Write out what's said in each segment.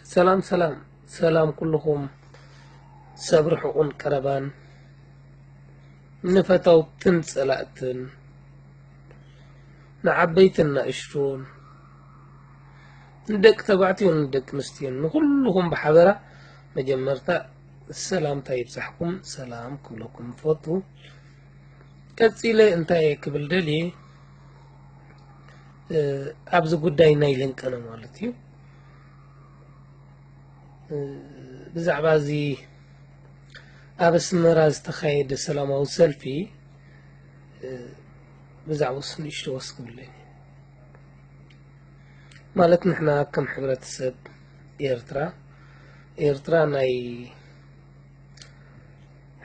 ሰላም ሰላም ሰላም ኩልኹም ሰብ ርሑቕን ቀረባን ንፈተውትን ጸላእትን ንዓበይትን ንእሽቱን ንደቂ ተባዕትዮን ንደቂ ኣንስትዮን ንኹልኹም ብሓበራ መጀመርታ ሰላምታ ይብጻሕኩም ሰላም ክብለኩም እፈቱ። ቀጺለ እንታይ እየ ክብል ደልየ ኣብዚ ጉዳይ ናይ ለንቀነ ማለት እዩ። ብዛዕባ እዚ ኣብ ኣስመራ ዝተኻየደ ሰላማዊ ሰልፊ ብዛዕባ እሱ ንእሽቶ ወስ ክብለኒ ማለት ንሕና ከም ሕብረተሰብ ኤርትራ ኤርትራ ናይ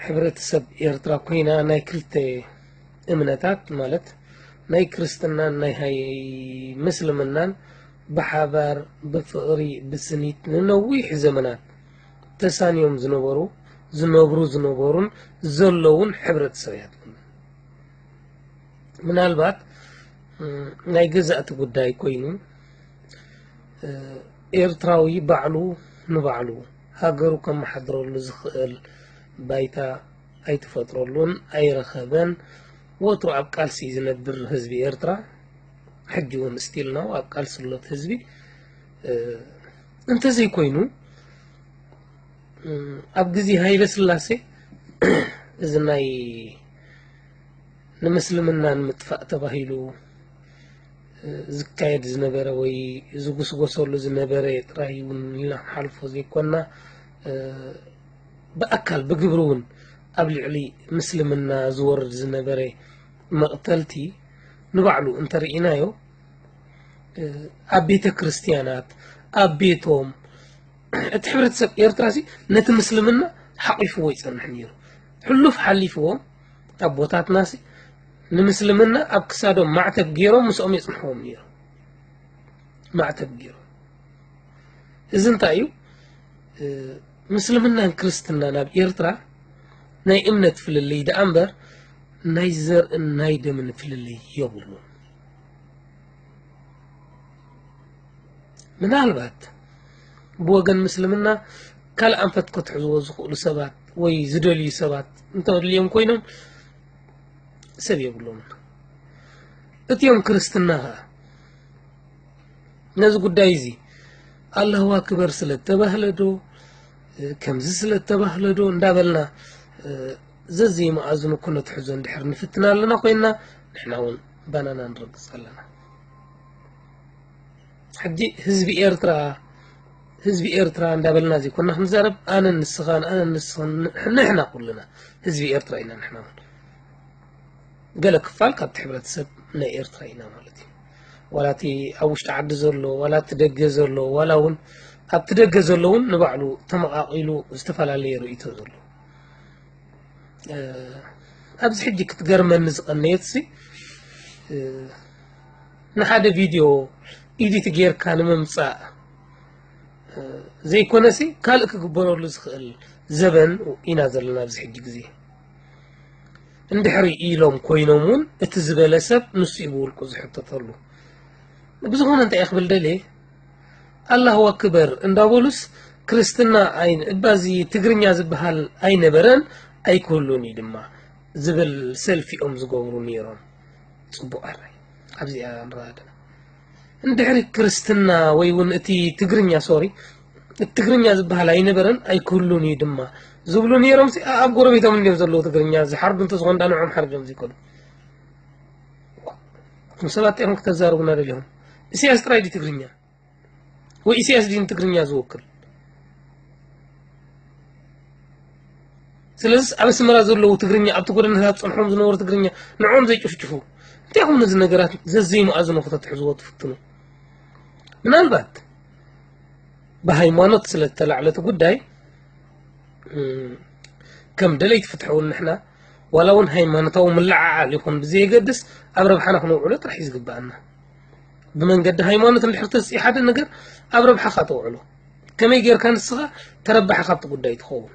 ሕብረተሰብ ኤርትራ ኮይና ናይ ክልተ እምነታት ማለት ናይ ክርስትናን ናይ ሃይ ምስልምናን ብሓባር ብፍቕሪ ብስኒት ንነዊሕ ዘመናት ተሳንዮም ዝነበሩ ዝነብሩ ዝነበሩን ዘለውን ሕብረተሰብ እያ። ምናልባት ናይ ገዛእቲ ጉዳይ ኮይኑ ኤርትራዊ ባዕሉ ንባዕሉ ሃገሩ ከመሓድረሉ ዝኽእል ባይታ ኣይተፈጥረሉን ኣይረኸበን። ወትሩ ኣብ ቃልሲ ዝነብር ህዝቢ ኤርትራ ሕጂ እውን ስቲል ነው ኣብ ቃልሲ ሎት ህዝቢ እንተዘይኮይኑ ኣብ ግዜ ሃይለ ስላሴ እዚ ናይ ንምስልምና ንምጥፋእ ተባሂሉ ዝካየድ ዝነበረ ወይ ዝጉስጎሰሉ ዝነበረ ጥራይ እውን ኢልና ክንሓልፎ ዘይኮና ብኣካል ብግብሪ እውን ኣብ ልዕሊ ምስልምና ዝወርድ ዝነበረ መቕተልቲ ንባዕሉ እንተርኢናዮ ኣብ ቤተ ክርስትያናት ኣብ ቤቶም እቲ ሕብረተሰብ ኤርትራ ሲ ነቲ ምስልምና ሓቂፍዎ ይጸንሕ ነይሩ። ሕሉፍ ሓሊፍዎም ኣቦታትና ሲ ንምስልምና ኣብ ክሳዶም ማዕተብ ገይሮም ምስኦም የጽንሕዎም ነይሩ። ማዕተብ ገይሮም እዚ እንታይ እዩ? ምስልምናን ክርስትናን ኣብ ኤርትራ ናይ እምነት ፍልልይ ደኣ እምበር ናይ ዘርእን ናይ ደምን ፍልልይ የብሉን። ምናልባት ብወገን ምስልምና ካልእ ኣንፈት ከትሕዝዎ ዝኽእሉ ሰባት ወይ ዝደልዩ ሰባት እንተልዮም ኮይኖም ሰብ የብሎምን። እትዮም ክርስትና ኸዓ ነዚ ጉዳይ እዚ ኣላሁ ኣክበር ስለ ተባህለ ዶ ከምዚ ስለ ተባህለ ዶ እንዳበልና ዘዘይመኣዝኑ ኩነትሕዞ እንድሕር ንፍትና ኣለና ኮይንና ንሕና እውን ባናና ንረግፅ ኣለና። ሕጂ ህዝቢ ኤርትራ ህዝቢ ኤርትራ እንዳበልና ዘይኮና ክንዛረብ ኣነ ንስኻን ኣነ ንስኻን ንሕና ኩልና ህዝቢ ኤርትራ ኢና። ንሕና እውን ገለ ክፋል ካብቲ ሕብረተሰብ ናይ ኤርትራ ኢና ማለት እዩ። ዋላ እቲ ኣብ ውሽጢ ዓዲ ዘሎ ዋላ እቲ ደገ ዘሎ ዋላ እውን ኣብቲ ደገ ዘሎ እውን ንባዕሉ ተመቓቒሉ ዝተፈላለየ ርእይቶ ዘሎ ኣብዚ ሕጂ ክትገርመኒ ዝቐነየት ሲ ንሓደ ቪድዮ ኢዲት ጌርካ ንምምፃእ ዘይኮነሲ ካልእ ክግበረሉ ዝኽእል ዘበን ኢና ዘለና ኣብዚ ሕጂ ግዜ። እንድሕሪ ኢሎም ኮይኖም እውን እቲ ዝበለ ሰብ ንሱ እዩ ብውልቁ ዝሕተተሉ። ብዝኾነ እንታይ ክብል ደልየ ኣላሁ ኣክበር እንዳበሉስ ክርስትና እባዚ ትግርኛ ዝበሃል ኣይነበረን ኣይክህሉን እዩ ድማ ዝብል ሰልፊ እዮም ዝገብሩ ነይሮም። ፅቡቕ ኣራይ ኣብዚኣ ንረኣደና እንድሕሪ ክርስትና ወይ እውን እቲ ትግርኛ ሶሪ እቲ ትግርኛ ዝበሃል ኣይነበረን ኣይክህሉን እዩ ድማ ዝብሉ ነይሮም ኣብ ጎረቤቶም እንዲዮም ዘለዉ ትግርኛ ዝሓርዱ እንተዝኾን ዳ ንዖም ሓርዶም ዘይኮኑ እቶም ሰባት እዮም ክተዛርቡና ደሊኹም። ኢሳያስ ጥራይ ድዩ ትግርኛ ወይ ኢሳያስ ድዩ ንትግርኛ ዝወክል? ስለዚ ኣብ ኣስመራ ዘለዉ ትግርኛ ኣብቲ ጎደናታት ጸንሖም ዝነበሩ ትግርኛ ንዕኦም ዘይጭፍጭፉ እንታይ ኹም ነዚ ነገራት ዘዘይመኣዝኖ ከተትሕዝዎ ትፍትኑ? ምናልባት ብሃይማኖት ስለ ዝተላዕለ እቲ ጉዳይ ከም ደለይቲ ፍትሒ እውን ንሕና ዋላ እውን ሃይማኖታዊ ምልዕዓል ይኹን ብዘየገድስ ኣብ ረብሓና ክነውዕሎ ጥራሕ እዩ ዝግብኣና። ብመንገዲ ሃይማኖት እንድሕር ተዝፅኢ ሓደ ነገር ኣብ ረብሓኻ ተውዕሎ። ከመይ ጌርካ ንስኻ ተረባሒ ካብቲ ጉዳይ ትኸውን?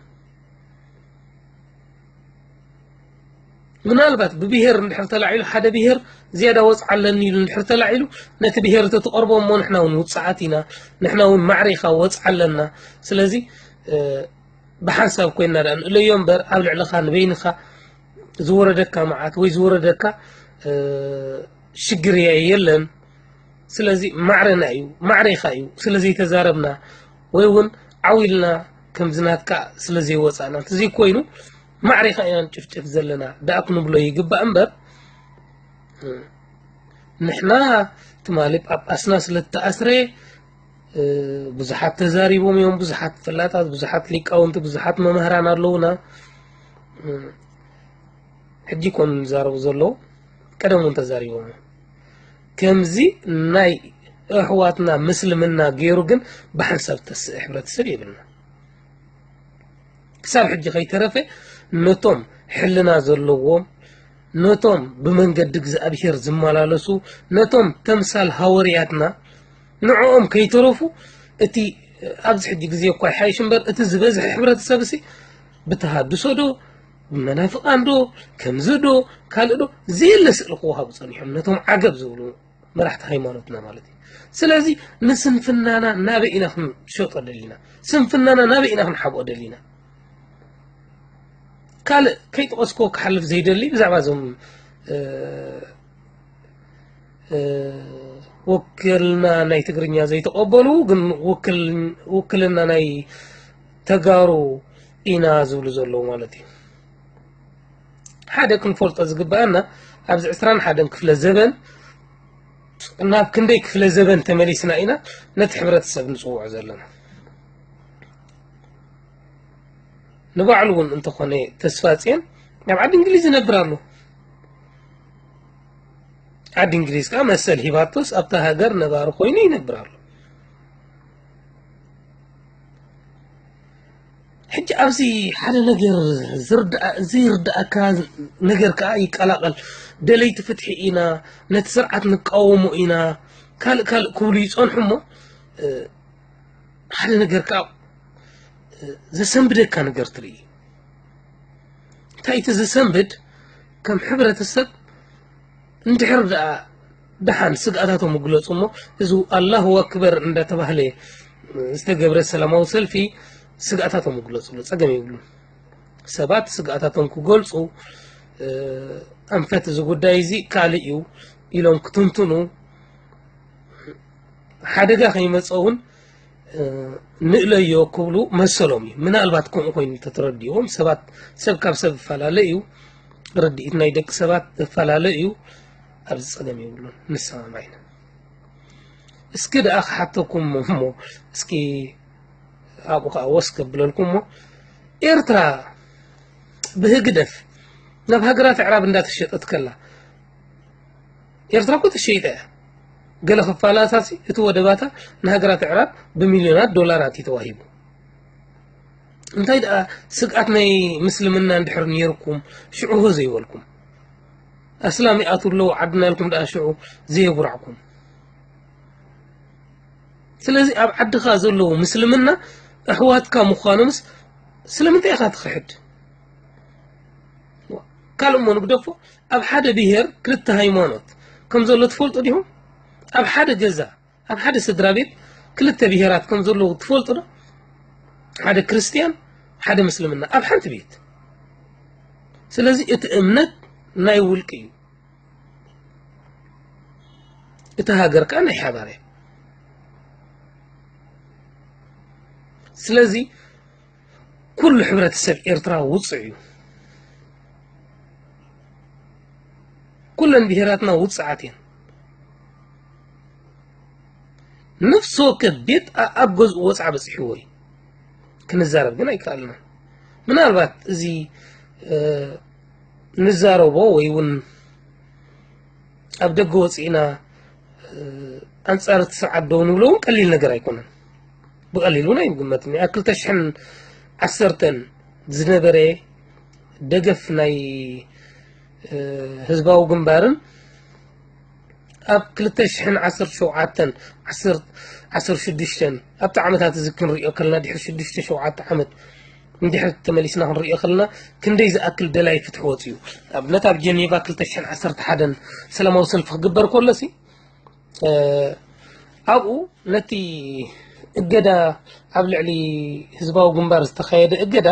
ምናልባት ብብሄር እንድሕር ተላዒሉ፣ ሓደ ብሄር ዝያዳ ወፅዓ ኣለኒ ኢሉ እንድሕር ተላዒሉ፣ ነቲ ብሄር እቲ ትቐርቦ፣ እሞ ንሕና እውን ውፅዓት ኢና፣ ንሕና እውን ማዕረ ኢኻ ወፅዓ ኣለና። ስለዚ ብሓንሳብ ኮይና ደኣ ንእለዮ እምበር፣ ኣብ ልዕልኻ ንበይንኻ ዝወረደካ መዓት ወይ ዝወረደካ ሽግር የለን። ስለዚ ማዕረና እዩ፣ ማዕሬኻ እዩ ስለ ዘይተዛረብና፣ ወይ እውን ዓው ኢልና ከምዚ ናትካ ስለ ዘይወፃእና። እንተዘይኮይኑ ማዕሬኻ ኢና ንጭፍጭፍ ዘለና ደኣ ክንብሎ ይግባእ እምበር፣ ንሕና ትማሊ ጳጳስና ስለ ዝተኣስረ ብዙሓት ተዛሪቦም እዮም፣ ብዙሓት ፈላጣት፣ ብዙሓት ሊቃውንቲ፣ ብዙሓት መምህራን ኣለውና። ሕጂ ኮን ዝዛረቡ ዘለዉ፣ ቀደም እውን ተዛሪቦም። ከምዚ ናይ ኣሕዋትና ምስልምና ገይሩ ግን ብሓንሳብ ተስእ ሕብረተሰብ የብልና። ክሳብ ሕጂ ከይተረፈ ነቶም ሕልና ዘለዎም፣ ነቶም ብመንገዲ እግዚኣብሔር ዝመላለሱ፣ ነቶም ተምሳል ሃወርያትና፣ ንዕኦም ከይተረፉ እቲ ኣብዚ ሕጂ ግዜ እኳ ይሓይሽ እምበር፣ እቲ ዝበዝሐ ሕብረተሰብ ሲ ብተሃድሶ ዶ፣ ብመናፍቃን ዶ፣ ከምዚ ዶ፣ ካልእ ዶ፣ ዘየለ ስእሊ ክወሃቡ ጸኒሖም፣ ነቶም ዓገብ ዝብሉ መራሕቲ ሃይማኖትና ማለት እዩ። ስለዚ ንስንፍናና ናበይ ኢና ክንሸጦ ደሊና? ስንፍናና ናበይ ኢና ክንሓብኦ ደሊና? ካልእ ከይጠቐስክዎ ክሓልፍ ዘይደሊ ብዛዕባ እዞም፣ እ፣ እ፣ ውክልና ናይ ትግርኛ ዘይተቐበሉ፣ ግን ውክል-፣ ውክልና ናይ ተጋሩ ኢና ዝብሉ ዘለዉ ማለት እዩ። ሓደ ክንፈልጦ ዝግበኣና፣ ኣብዚ ዕስራን ሓደን ክፍለ ዘበን ናብ ክንደይ ክፍለ ዘበን ተመሊስና ኢና ነቲ ሕብረተሰብ ንጽውዖ ዘለና? ንባዕሉ እውን እንተኾነ ተስፋጽዮን ኣብ ዓዲ እንግሊዝ ይነብር ኣሎ። ዓዲ እንግሊዝ ከኣ መሰል ሂባቶስ ኣብታ ሃገር ነባሪ ኮይኑ ይነብር ኣሎ። ሕጂ ኣብዚ ሓደ ነገር ዝርዳእ-፣ ዘይርዳእካ ነገር ከኣ ይቀላቐል። ደለይቲ ፍትሒ ኢና፣ ነቲ ስርዓት ንቃወሞ ኢና፣ ካልእ ካልእ ክብሉ ይጸንሑ እሞ፣ እ፣ ሓደ ነገር ከኣ፣ እ፣ ዘሰንብደካ ነገር ትርኢ። እንታይ እቲ ዘሰንብድ? ከም ሕብረተሰብ እንድሕር ደኣ ደሓን ስግኣታቶም ይግለጹ እሞ፣ እዚ ኣላሁ ኣክበር እንዳተባህለ ዝተገብረ ሰላማዊ ሰልፊ ስግኣታቶም ይግለጹሉ፣ ጸገም የብሉን። ሰባት ስግኣታቶም ክገልጹ፣ እ፣ ኣንፈት እዚ ጉዳይ እዚ ካልእ እዩ ኢሎም ክትንትኑ፣ ሓደጋ ከይመጸ እውን፣ እ፣ ንእለዮ ክብሉ መሰሎም እዩ። ምናልባት ከምኡ ኮይኑ እንተተረዲእዎም ሰባት፣ ሰብ ካብ ሰብ ይፈላለ እዩ፣ ርድኢት ናይ ደቂ ሰባት ይፈላለ እዩ። ኣብዚ ጸገም የብሉን፣ ንሰማማዕ ኢና። እስኪ ደኣ ክሓተኩም እሞ፣ እስኪ ኣብኡ ከኣ ወስ ከብለልኩም እሞ፣ ኤርትራ ብህግደፍ ናብ ሃገራት ኣዕራብ እንዳተሸጠት ከላ፣ ኤርትራ እኮ ተሸይጠ እያ። ገለ ክፋላታሲ እቲ ወደባታ ንሃገራት ኣዕራብ ብሚልዮናት ዶላራት እዩ ተዋሂቡ። እንታይ ደኣ ስግኣት ናይ ምስልምና እንድሕር ነይርኩም፣ ሽዑ ሆ ዘይበልኩም? ኣስላም ይኣትዉ ኣለዉ ዓድና ኢልኩም ደኣ ሽዑ ዘየጉራዕኩም? ስለዚ ኣብ ዓድኻ ዘለዉ ምስልምና ኣሕዋትካ ምዃኖምስ ስለምንታይ ኢኻ ትኽሕድ? ካልእ እሞ ንግደፎ፣ ኣብ ሓደ ብሄር ክልተ ሃይማኖት ከም ዘሎ ትፈልጡ ዲኹም? ኣብ ሓደ ገዛ፣ ኣብ ሓደ ስድራ ቤት ክልተ ብሄራት ከም ዘለዉ ትፈልጡ ዶ? ሓደ ክርስትያን፣ ሓደ ምስልምና ኣብ ሓንቲ ቤት። ስለዚ እቲ እምነት ናይ ውልቂ እዩ፣ እቲ ሃገር ከኣ ናይ ሓባር እያ። ስለዚ ኩሉ ሕብረተሰብ ኤርትራ ውጹዕ እዩ። ኩለን ብሄራትና ውጹዓት እየን። ነፍሲ ወከፍ ቤት ኣ-፣ ኣብ ገዝኡ ወጽዓ በጺሕዎ እዩ። ክንዛረብ ግን ኣይከኣልናን። ምናልባት እዚ፣ እ፣ ንዛረቦ ወይ እውን ኣብ ደገ ወጺእና፣ እ፣ ኣንጻር እቲ ስርዓት ደው ንብሎ እውን ቀሊል ነገር ኣይኮነን። ብቐሊል እውን ኣይግመትን። ኣብ ክልተ ሽሕን ዓሰርተን ዝነበረ ደገፍ ናይ፣ እ፣ ህዝባዊ ግንባርን ኣብ ክልተ ሽሕን ዓሰርተ ሸውዓተን፣ ዓሰርተ፣ ዓሰርተ ሽዱሽተን ኣብቲ ዓመታት እዚ ክንሪኦ ከለና ድሕሪ ሽዱሽተ ሸውዓተ ዓመት እንድሕር ተመሊስና ክንሪኦ ከለና ክንደይ ዝኣክል ደላይ ፍትሒ ወፂኡ። ኣብነት ኣብ ጀኔቫ ክልተ ሽሕን ዓሰርተ ሓደን ሰላማዊ ሰልፊ ክግበር ከሎሲ ኣብኡ ነቲ እገዳ ኣብ ልዕሊ ህዝባዊ ግንባር ዝተኻየደ እገዳ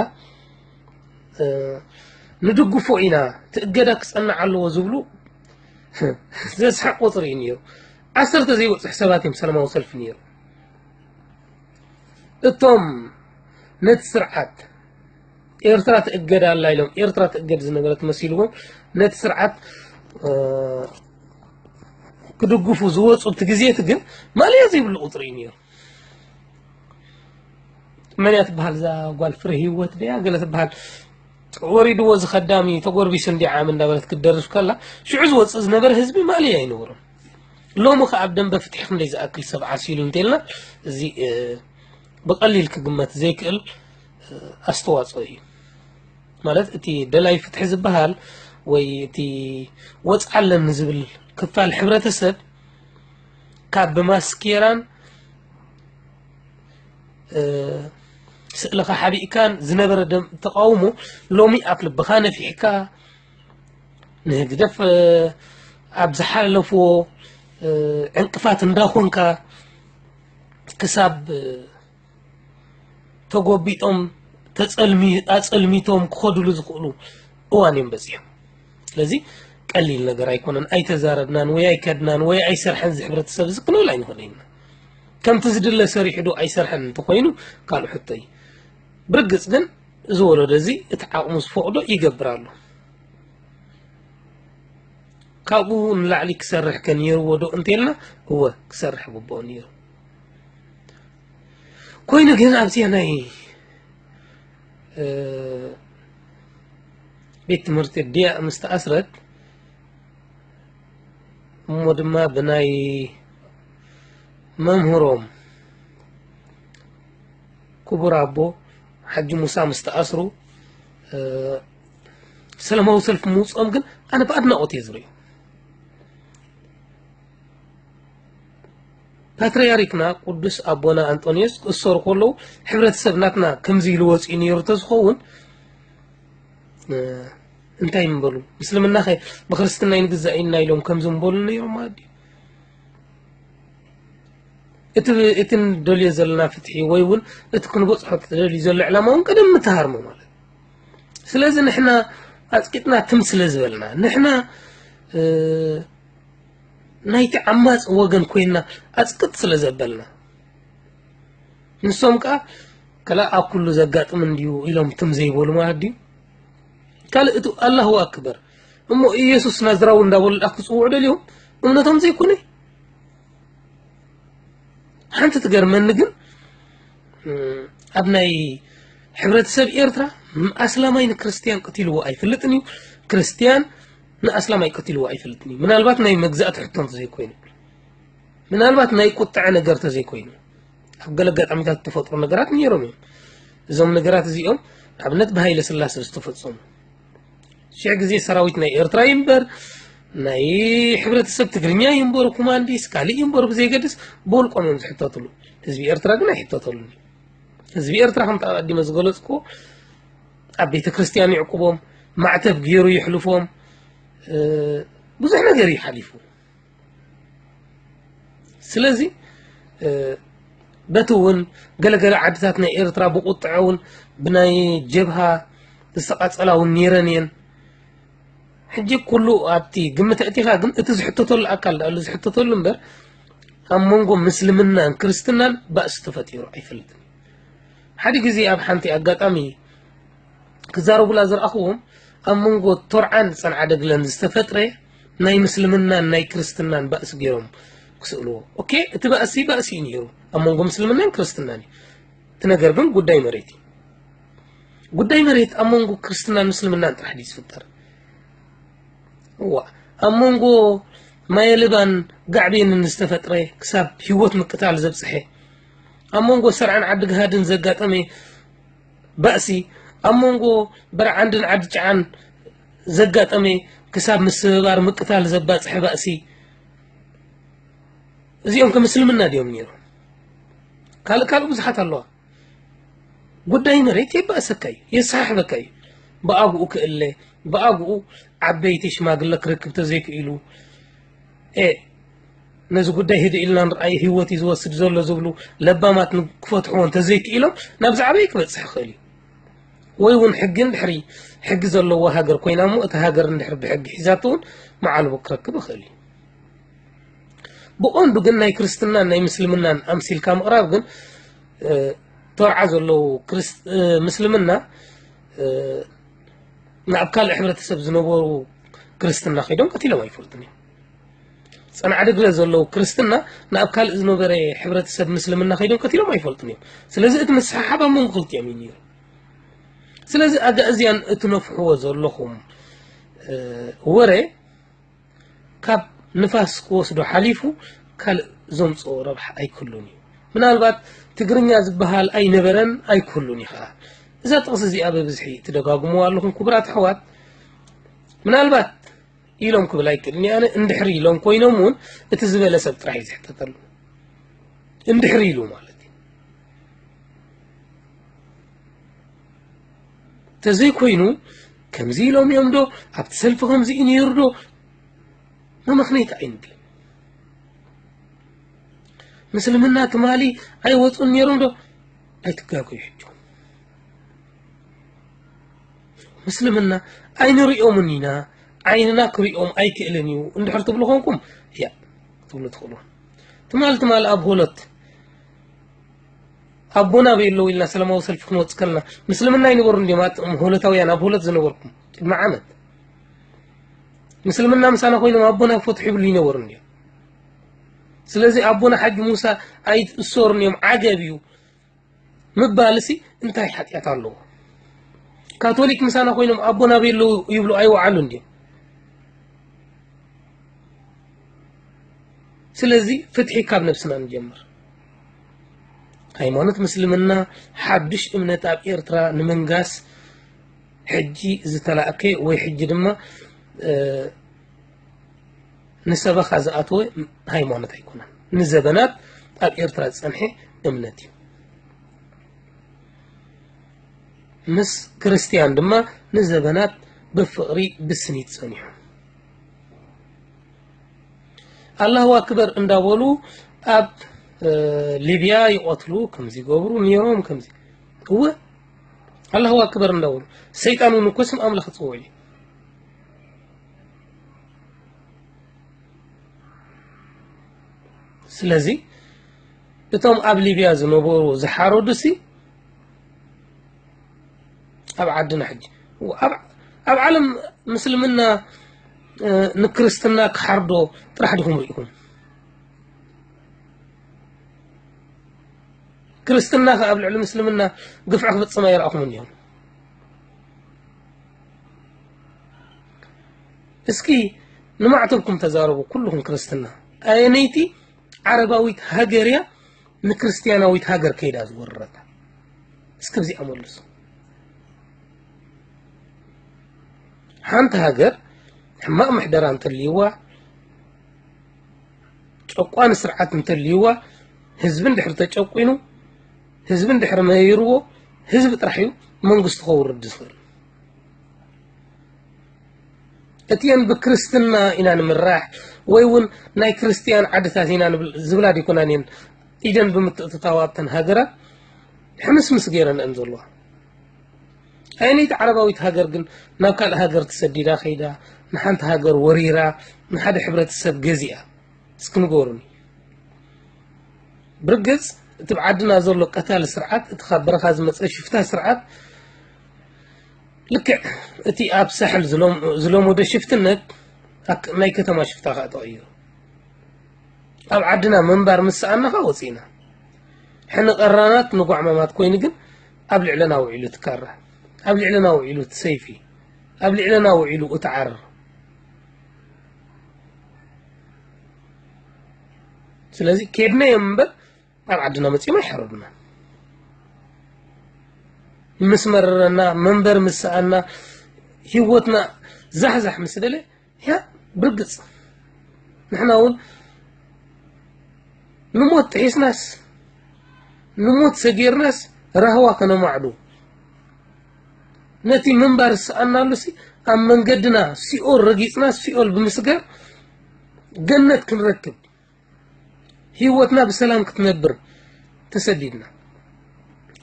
ንድግፎ ኢና፣ እቲ እገዳ ክጸንዕ ኣለዎ ዝብሉ ዘስሕቕ ቁጽሪ እዩ ነይሩ። ዓሰርተ ዘይበጽሑ ሰባት እዮም ሰላማዊ ሰልፊ ነይሩ። እቶም ነቲ ስርዓት ኤርትራ ትእገድ ኣላ ኢሎም ኤርትራ ትእገድ ዝነበረት መሲልዎም ነቲ ስርዓት ክድግፉ ዝወፁ እቲ ግዜቲ ግን ማልያ ዘይብሉ ቁፅሪ እዩ ነይሩ። መን እያ ትበሃል እዛ ጓል ፍረ ህይወት ድያ ገለ ትበሃል ወሪድዎ እዚ ከዳሚ ተጎርቢሱ እንዲ ዓም እንዳበለት ክትደርፍ ከላ ሽዑ ዝወፅእ ዝነበረ ህዝቢ ማልያ ኣይነበሮም። ሎሚ ከ ኣብ ደንበ ፍትሒ ክንደይ ዝኣክል ሰብ ዓሲሉ እንተልና እዚ ብቐሊል ክግመት ዘይክእል ኣስተዋፅኦ እዩ። ማለት እቲ ደላይ ፍትሒ ዝበሃል ወይ እቲ ወፅዓለን ዝብል ክፋል ሕብረተሰብ ካብ ብማስኬራን ስእልኻ ሓቢእካን ዝነበረ ተቃውሞ ሎሚ ኣፍ ልብኻ ነፊሕካ ንህግደፍ ኣብ ዝሓለፍዎ ዕንቅፋት እንዳኾንካ ክሳብ ተጎቢጦም ኣፀልሚቶም ክኸዱሉ ዝኽእሉ እዋን እዮም በፂሖም። ስለዚ ቀሊል ነገር ኣይኮነን። ኣይተዛረብናን ወይ ኣይከድናን ወይ ኣይሰርሐን ዝሕብረተሰብ እዚ ክንብል ኣይንኽእል ኢና። ከምቲ ዝድለ ሰሪሑ ዶ ኣይሰርሐን እንተኮይኑ ካልእ ሕቶ እዩ። ብርግፅ ግን እዚ ወለዶ እዚ እቲ ዓቕሙ ዝፈቕዶ ይገብር ኣሎ። ካብኡ ንላዕሊ ክሰርሕ ከ ነይርዎ ዶ እንተልና እወ ክሰርሕ ግብኦ ነይሩ። ኮይኑ ግን ኣብዚኣ ናይ ቤት ትምህርቲ ዲያ ምስ ተኣስረት እሞ ድማ ብናይ መምህሮም ክቡር ኣቦ ሓጂ ሙሳ ምስ ተኣስሩ ሰላማዊ ሰልፊ ምውፅኦም ግን ኣነ ብኣድናቆት እየ ዝርእዩ። ፓትርያርክና ቅዱስ ኣቦና ኣንጦንዮስ ክእሰሩ ከለዉ ሕብረተሰብ ናትና ከምዚ ኢሉ ወፂኡ ነይሩ ተዝኸውን እንታይ ምበሉ? ምስልምና ኸ ብክርስትና ይንግዛእ ኢልና ኢሎም ከምዚ ምበሉ ነይሮም ማለት ድዩ? እቲ ንደልዮ ዘለና ፍትሒ ወይ እውን እቲ ክንበፅሖ ትደልዩ ዘሎ ዕላማ እውን ቀደም ምተሃርሞ ማለት። ስለዚ ንሕና ኣፅቂጥና ትም ስለ ዝበልና ንሕና ናይቲ ዓማፅ ወገን ኮይንና ኣፅቅጥ ስለ ዘበልና ንሶም ከዓ ከላ ኣብ ኩሉ ዘጋጥም እንድዩ ኢሎም ትም ዘይበሉ ማለት ድዩ? ካልእ እቲ ኣላሁ ኣክበር እሞ ኢየሱስ ናዝራዊ እንዳበሉ ደኣ ክፅውዑ ደልዮም እምነቶም ዘይኮነ ሓንቲ ትገርመኒ ግን ኣብ ናይ ሕብረተሰብ ኤርትራ ኣስላማይ ንክርስትያን ቀቲልዎ ኣይፈልጥን እዩ። ክርስትያን ንኣስላማይ ቀቲልዎ ኣይፈልጥን እዩ። ምናልባት ናይ መግዛእቲ ሕቶ እንተዘይኮይኑ ምናልባት ናይ ቁጥዐ ነገር ተዘይኮይኑ ኣብ ገለ ኣጋጣሚታት ተፈጥሮ ነገራት ነይሮም እዮም። እዞም ነገራት እዚኦም ኣብነት ብሃይለ ስላሰ ዝተፈጸሙ ሽሕ ግዜ ሰራዊት ናይ ኤርትራ ይንበር ናይ ሕብረተሰብ ትግርኛ ይንበሩ ኮማንዲስ ካልእ ይንበሩ ብዘይገድስ ብውልቆም እዮም ዝሕተትሉ። ህዝቢ ኤርትራ ግን ኣይሕተተሉን። ህዝቢ ኤርትራ ከምቲ ኣቐዲመ ዝገለጽኩ ኣብ ቤተ ክርስቲያን ይዕቁቦም ማዕተብ ገይሩ ይሕልፎም ብዙሕ ነገር እዩ ሓሊፉ። ስለዚ በቲ እውን ገለገለ ዓድታት ናይ ኤርትራ ብቁጥዐ እውን ብናይ ጀብሃ ዝተቃጸላ እውን ነይረን እየን። ሕጂ ኩሉ ኣብቲ ግምት ኣእቲኻ ግን እቲ ዝሕተተሉ ኣካል ዳኣሉ ዝሕተተሉ እምበር ኣብ መንጎ ምስልምናን ክርስትናን ባእሲ ተፈጢሩ ኣይፈልጥን። ሓደ ግዜ ኣብ ሓንቲ ኣጋጣሚ ክዛረቡላ ዝረኣኽዎም ኣብ መንጎ ቶርዓን ጸንዓደግለን ዝተፈጥረ ናይ ምስልምናን ናይ ክርስትናን ባእሲ ገይሮም ክስእልዎ። ኦኬ፣ እቲ ባእሲ ባእሲ እዩ ነይሩ ኣብ መንጎ ምስልምናን ክርስትናን እዩ። እቲ ነገር ግን ጉዳይ መሬት እዩ። ጉዳይ መሬት ኣብ መንጎ ክርስትናን ምስልምናን ጥራሕ ድዩ ዝፍጠር? እዋ ኣብ መንጎ ማየልባን ጋዕቤንን ዝተፈጥረ ክሳብ ህይወት ምቅታል ዘብፅሐ ኣብ መንጎ ሰርዓን ዓዲ ግሃድን ዘጋጠመ ባእሲ ኣብ መንጎ በርዓንድን ዓዲ ጨዓን ዘጋጠመ ክሳብ ምስብባር ምቅታል ዘባፅሐ ባእሲ እዚኦም ከምስልምና ድዮም ነይሮም? ካልእ ካልእ ብዙሓት ኣለዋ። ጉዳይ መሬት የባእሰካ እዩ፣ የሰሓሕበካ እዩ። ብኣግኡ ክእለ፣ ብኣግኡ ዓበይቲ ሽማግለ ክረክብ ተዘይክኢሉ፣ እ፣ ነዚ ጉዳይ ህድእ ኢልና ንርኣዮ፣ ህይወት እዩ ዝወስድ ዘሎ ዝብሉ ለባማት ክፈትሕዎ እንተዘይክኢሎም፣ ናብ ዝዓበየ ክበጽሕ ይኽእል እዩ። ወይ እውን ሕጊ እንድሕሪ፣ ሕጊ ዘለዎ ሃገር ኮይና እሞ፣ እቲ ሃገር እንድሕሪ ብሕጊ ሒዛቶ እውን መዓልቦ ክረክብ ይኽእል እዩ። ብቐንዱ ግን ናይ ክርስትናን ናይ ምስልምናን ኣምሲልካ ምቕራብ ግን፣ እ፣ ተርዓ ዘለዉ ክርስት-፣ እ፣ ምስልምና፣ እ፣ ናብ ካልእ ሕብረተሰብ ዝነበሩ ክርስትና ከይዶም ቀቲሎም ኣይፈልጡን እዮም። ጸንዓ ድግለ ዘለዉ ክርስትና ናብ ካልእ ዝነበረ ሕብረተሰብ ምስልምና ከይዶም ቀቲሎም ኣይፈልጡን እዮም። ስለዚ እቲ ምስሕሓብ ኣብ መንጎ ክልቲኦም እዩ ነይሩ። ስለዚ ኣጋእዝያን እትነፍሕዎ ዘለኹም፣ እ፣ ወረ ካብ ንፋስ ክወስዶ ሓሊፉ ካልእ ዘምጽኦ ረብሓ ኣይክህሉን እዩ። ምናልባት ትግርኛ ዝበሃል ኣይነበረን ኣይክህሉን እዩ ኸዓ። እዛ ጥቕሲ እዚኣ ብብዝሒ ትደጋግምዋ ኣለኹም ክቡራት ኣሕዋት። ምናልባት ኢሎም ክብል ኣይክእልን እየ ኣነ፣ እንድሕሪ ኢሎም ኮይኖም እውን እቲ ዝበለ ሰብ ጥራሕ እዩ ዝሕተተሉ። እንድሕሪ ኢሉ ማለት እዩ። ተዘይኮይኑ ከምዚ ኢሎም እዮም ዶ፣ ኣብቲ ሰልፊ ከምዚ እዩ ነይሩ ዶ፣ መመኽነይቲ ኣይንብል። ምስልምና ትማሊ ኣይወፁን ነይሮም ዶ? ኣይትጋገዩ ሕጂ። ምስልምና ኣይንሪኦምን ኢና፣ ዓይንና ክሪኦም ኣይክእልን እዩ እንድሕር ትብሉ ኮንኩም፣ ያ ትብሉ ትኽእሉ። ትማሊ ትማሊ ኣብ ሆሎት ኣቦና ቤሎ ኢልና ሰላማዊ ሰልፊ ክንወጽእ ከለና፣ ምስልምና ኣይነበሩን ድዮም ኣቶም ሆሎታውያን ኣብ ሆሎት ዝነበርኩም ቅድሚ ዓመት? ምስልምና ምሳና ኮይኖም ኣቦና ፈትሑ ይብሉ ይነበሩን ድዮም? ስለዚ ኣቦና ሓጂ ሙሳ ኣይትእሰሩን እዮም፣ ዓገብ እዩ ምባልሲ እንታይ ሓጢኣት ኣለዎ? ካቶሊክ ምሳና ኮይኖም ኣቦና ቤሎ ይብሉ ኣይወዓሉን ድዮም? ስለዚ ፍትሒ ካብ ነብስና ንጀምር። ሃይማኖት ምስልምና ሓድሽ እምነት ኣብ ኤርትራ ንምንጋስ ሕጂ ዝተላእከ ወይ ሕጂ ድማ፣ እ፣ ንሰበኻ ዝኣተወ ሃይማኖት ኣይኮነን። ንዘበናት ኣብ ኤርትራ ዝጸንሐ እምነት እዩ። ምስ ክርስትያን ድማ ንዘበናት ብፍቕሪ ብስኒት ጸኒሑ። ኣላሁ ኣክበር እንዳበሉ ኣብ፣ እ፣ ሊብያ ይቐትሉ፣ ከምዚ ይገብሩ ነይሮም፣ ከምዚ። እወ፣ ኣላሁ ኣክበር እንዳበሉ። ሰይጣን እውን እኮ ስም ኣምላኽ ይጽውዕ እዩ። ስለዚ እቶም ኣብ ሊብያ ዝነበሩ ዝሓረዱሲ ኣብ ዓድና ሕጂ፣ ኣብ፣ ኣብ ዓለም ምስልምና፣ እ፣ ንክርስትና ክሓርዶ ጥራሕ ዲኹም ርኢኹም? ክርስትና ከ ኣብ ልዕሊ ምስልምና ግፍዒ ክፍጽም ኣይረኣኹምን ዲኹም? እስኪ ንማዕተብኩም ተዛረቡ ኩልኹም ክርስትና። ኣየነይቲ ዓረባዊት ሃገር እያ ንክርስትያናዊት ሃገር ከይዳ ዝወረረታ? እስኪ ብዚኣ መልሱ። ሓንቲ ሃገር ሕማቕ ምሕደራ እንተልይዋ፣ ጨቋኒ ስርዓት እንተልይዋ፣ ህዝቢ እንድሕር ተጨቂኑ፣ ህዝቢ እንድሕር መሪርዎ፣ ህዝቢ ጥራሕ እዩ መንግስቱ ከውርድ ዝኽእል። እቲአን ብክርስትና ኢና ንምራሕ ወይ እውን ናይ ክርስትያን ዓድታት ኢና ንብል-፣ ዝብላ ዲኮናን እየን ኢደን ብምትእትታው ኣብተን ሃገራት ሕምስምስ ገይረን እየን ዘለዋ። ኣየነይቲ ዓረባዊት ሃገር ግን ናብ ካልእ ሃገር ተሰዲዳ ከይዳ፣ ንሓንቲ ሃገር ወሪራ፣ ንሓደ ሕብረተሰብ ገዚኣ? እስኪ ንገሩኒ። ብርግጽ እቲ ኣብ ዓድና ዘሎ ቀታሊ ስርዓት፣ እቲ ካብ በረኻ ዝመጸ ሽፍታ ስርዓት፣ ልክዕ እቲ ኣብ ሳሕል ዝሎም-፣ ዝለመደ ሽፍትነት፣ ኣክ-፣ ናይ ከተማ ሽፍታ ከኣ ተቐይሩ። ኣብ ዓድና ምንባር ምስ ሰኣና ከኣ ወጺእና። ሕነ ቀራናት ንጓዕማማት ኮይኑ ግን ኣብ ልዕለና ውዒሉ እቲ ካራ፣ ኣብ ልዕለና ውዒሉ እቲ ሰይፊ፣ ኣብ ልዕለና ውዒሉ እቲ ዓር። ስለዚ ኬድና እዮም እምበር ኣብ ዓድና መጺኦም ኣይሓረዱና። ምስ መረረና፣ መንበር ምስ ሰኣና፣ ህይወትና ዛሕዛሕ ምስ ደለ፣ ያ ብርግጽ ንሕና እውን ንሞት ጥሒስናስ፣ ንሞት ሰጊርናስ፣ ራህዋ ከነማዕዱ፣ ነቲ ምንባር ዝሰኣናሉ ሲ ኣብ መንገድና ሲኦል ረጊጽና ሲኦል ብምስጋር ገነት ክንረክብ፣ ህይወትና ብሰላም ክትነብር ተሰዲድና።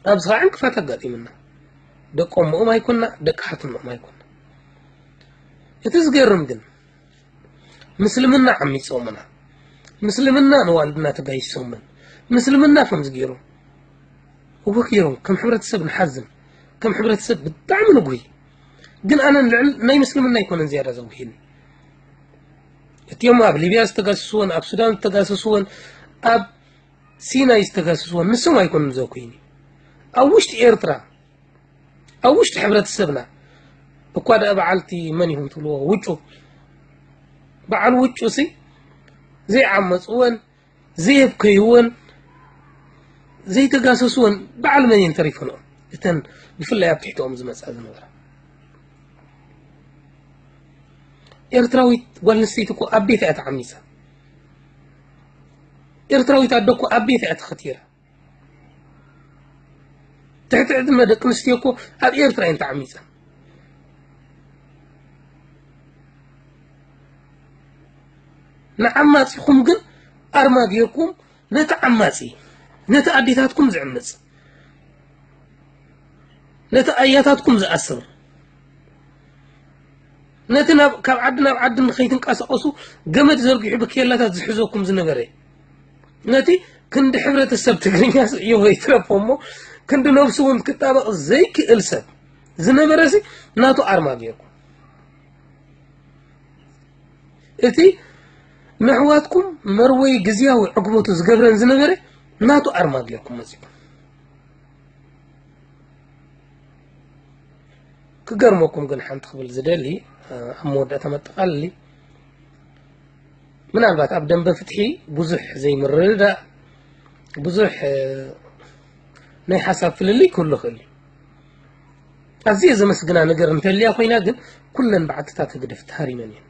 ኣብዚ ኸዓ ዕንቅፋት ኣጋጢምና። ደቂ እሞኦም ኣይኮንና፣ ደቂ ሓትኖኦም ኣይኮንና። እቲ ዝገርም ግን ምስልምና ዓሚጾምና፣ ምስልምና ንዋልድና ተጋይሶምን፣ ምስልምና ከምዚ ገይሩ እወ ገይሮም። ከም ሕብረተሰብ ንሓዝን፣ ከም ሕብረተሰብ ብጣዕሚ ንጉሂ። ግን ኣነ ልዕል ናይ ምስልምና ኣይኮነን ዝያዳ ዘጉሂኒ። እቲኦም ኣብ ሊብያ ዝተጋስስዎን ኣብ ሱዳን ዝተጋሰስዎን ኣብ ሲናይ ዝተጋስስዎን ንሶም ኣይኮኑን ዘጉሂኒ። ኣብ ውሽጢ ኤርትራ፣ ኣብ ውሽጢ ሕብረተሰብና እኳ ደኣ በዓልቲ መን ኢኹም ትብልዎ ውጩ፣ በዓል ውጩ ሲ ዘይዓመፅወን፣ ዘየብከይወን፣ ዘይተጋሰስወን በዓል መን እየን ተሪፈንኦም? እተን ብፍላይ ኣብ ትሕትኦም ዝመፃ ዝነበራ። ኤርትራዊት ጓል ኣንስተይቲ እኮ ኣብ ቤት እያ ተዓሚፃ። ኤርትራዊት ኣደ እኮ ኣብ ቤት እያ ተኸቲራ። ትሕቲ ዕድመ ደቂ ኣንስትዮ እኮ ኣብ ኤርትራ እየን ተዓሚፀን። ንዓማፂኹም ግን ኣርማ ጌርኩም ነቲ ዓማፂ፣ ነቲ ኣዴታትኩም ዝዕምፅ፣ ነቲ ኣያታትኩም ዝኣስር፣ ነቲ ናብ፣ ካብ ዓዲ ናብ ዓዲ ንኸይትንቀሳቐሱ ገመድ ዘርጊሑ ብኬላታት ዝሕዘኩም ዝነበረ፣ ነቲ ክንዲ ሕብረተሰብ ትግርኛ ስዕዮ ይትረፎ እሞ ክንዲ ነብሱ እውን ክጣበቕ ዘይክእል ሰብ ዝነበረ ሲ ናቱ ኣርማ ጌርኩም። እቲ ነሕዋትኩም መርወይ ግዝያዊ ዕግበቱ ዝገብረን ዝነበረ ናቱ ኣርማ ጌርኩም መጺእኩም። ክገርመኩም ግን ሓንቲ ክብል ዝደሊ፣ ኣብ መወዳእታ መጠቓለሊ፣ ምናልባት ኣብ ደንበ ፍትሒ ብዙሕ ዘይምርድዳእ፣ ብዙሕ ናይ ሓሳብ ፍልልይ ክህሉ ይኽእል እዩ። ኣዝየ ዘመስግና ነገር እንተልያ ኮይና ግን ኩለን በዓትታት ህግደፍ ተሃሪመን እየን።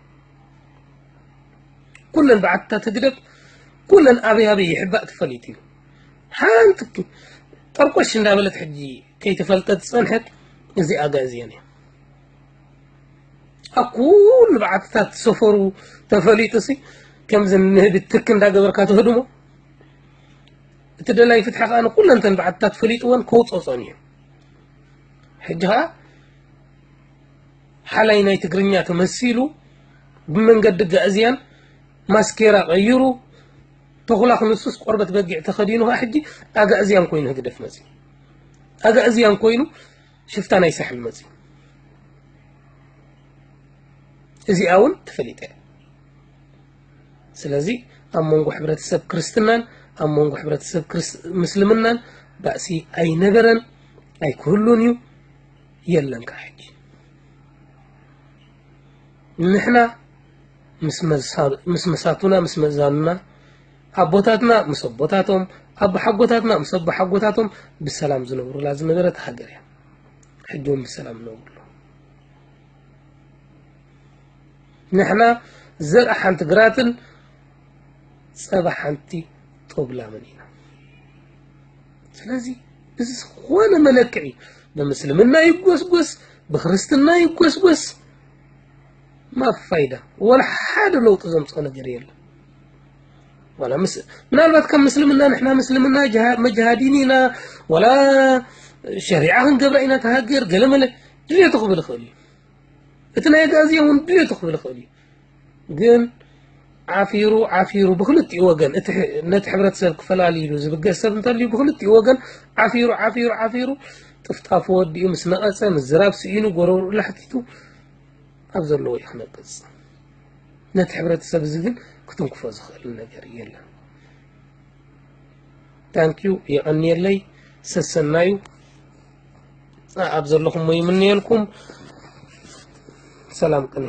ኩለን በዓትታት ህግደፍ ኩለን ኣበይ ኣበይ ይሕባእ ተፈሊጡ እዩ። ሓንቲ ጠርቆሽ እንዳበለት ሕጂ ከይተፈልጠት ዝጸንሐት እዚ ኣጋእዝያን እያ። ኣብ ኩሉ በዓትታት ሰፈሩ ተፈሊጡ ሲ ከምዚ ንህቢ ትክ እንዳገበርካ ተህድሞ። እቲ ደላይ ፍትሒ ከኣ ንኩለንተን በዓትታት ፈሊጥወን ከውጸጸን እዩ። ሕጂ ከኣ ሓላይ ናይ ትግርኛ ተመሲሉ ብመንገዲ ጋእዝያን ማስኬራ ቀይሩ ተኹላ ክንሱስ ቆርበት በጊዕ ተኸዲኑ ከኣ ሕጂ ኣጋእዝያን ኮይኑ ህግደፍ መጺኡ። ኣጋእዝያን ኮይኑ ሽፍታ ናይ ሳሕል መጺኡ። እዚኣ እውን ተፈሊጠ እያ። ስለዚ ኣብ መንጎ ሕብረተሰብ ክርስትናን ኣብ መንጎ ሕብረተሰብ ክርስ-፣ ምስልምናን ባእሲ ኣይነበረን፣ ኣይክህሉን እዩ፣ የለን ከዓ ሕጂ። ንሕና ምስ መሳ-፣ ምስ መሳቱና፣ ምስ መዛኑና፣ ኣቦታትና ምስ ኣቦታቶም፣ ኣቦሓጎታትና ምስ ኣቦሓጎታቶም ብሰላም ዝነብሩላ ዝነበረት ሃገር እያ። ሕጂ እውን ብሰላም ይነብሩ ኣለዉ። ንሕና ዘርኢ ሓንቲ ግራትን ጸባ ሓንቲ ጦብላምን ኢና። ስለዚ እዚ ዝኾነ መለክዒ ብምስልምና ይጎስጎስ፣ ብክርስትና ይጎስጎስ፣ ማ ፋይዳ? ወላ ሓደ ለውጢ ዘምጽኦ ነገር የለን። ወላ ምስ-፣ ምናልባት ከም ምስልምና ንሕና ምስልምና ጅሃ-፣ መጅሃዲን ኢና፣ ወላ ሸሪዓ ክንገብራ ኢና፣ ተሃገር ገለመለ ድሌቱ ክብል ይኽእል እዩ። እቲ ናይ ኣጋእዝያን እውን ድሌቱ ክብል ይኽእል እዩ። ግን ዓፊሩ፣ ዓፊሩ ብኽልቲኡ ወገን፣ እቲ ሕ-፣ ነቲ ሕብረተሰብ ክፈላሊ ኢሉ ዝብገስ ሰብ እንተልዩ ብኽልቲኡ ወገን ዓፊሩ፣ ዓፊሩ፣ ዓፊሩ ጥፍጣፉ ወዲኡ ምስ ነቐጸ፣ ምዝራብ ስኢኑ፣ ጎረርኡ ላሕቲቱ ኣብ ዘለዎ እዩ ክነቅጽ። ነቲ ሕብረተሰብ እዚ ግን ክትንክፎ ዝኽእል ነገር የለን። ታንኪዩ፣ የቐንየለይ፣ ሰሰናዩ ኣብ ዘለኹሞ ይምነየልኩም። ሰላም ቅነ።